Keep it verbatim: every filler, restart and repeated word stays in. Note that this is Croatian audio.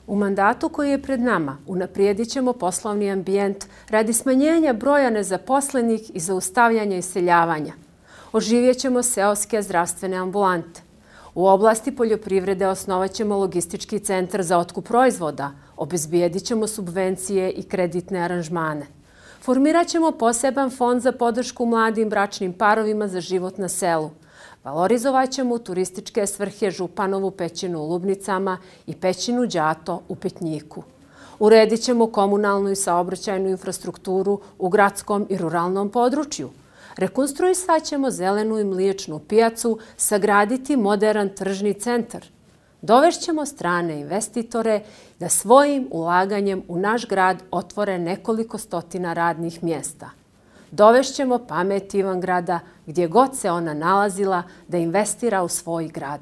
U mandatu koji je pred nama unaprijedit ćemo poslovni ambijent radi smanjenja broja nezaposlenih i zaustavljanja iseljavanja. Oživjet ćemo seoske zdravstvene ambulante. U oblasti poljoprivrede osnovat ćemo logistički centar za otkup proizvoda, obezbijedit ćemo subvencije i kreditne aranžmane. Formirat ćemo poseban fond za podršku mladim bračnim parovima za život na selu. Valorizovat ćemo u turističke svrhe Županovu pećinu u Lubnicama i pećinu Đato u Petnjiku. Uredit ćemo komunalnu i saobraćajnu infrastrukturu u gradskom i ruralnom području. Rekonstruisat ćemo zelenu i mliječnu pijacu, sagraditi moderan tržni centar. Dovešćemo strane investitore da svojim ulaganjem u naš grad otvore nekoliko stotina radnih mjesta. Dovešćemo pamet Ivangrada, gdje god se ona nalazila, da investira u svoj grad.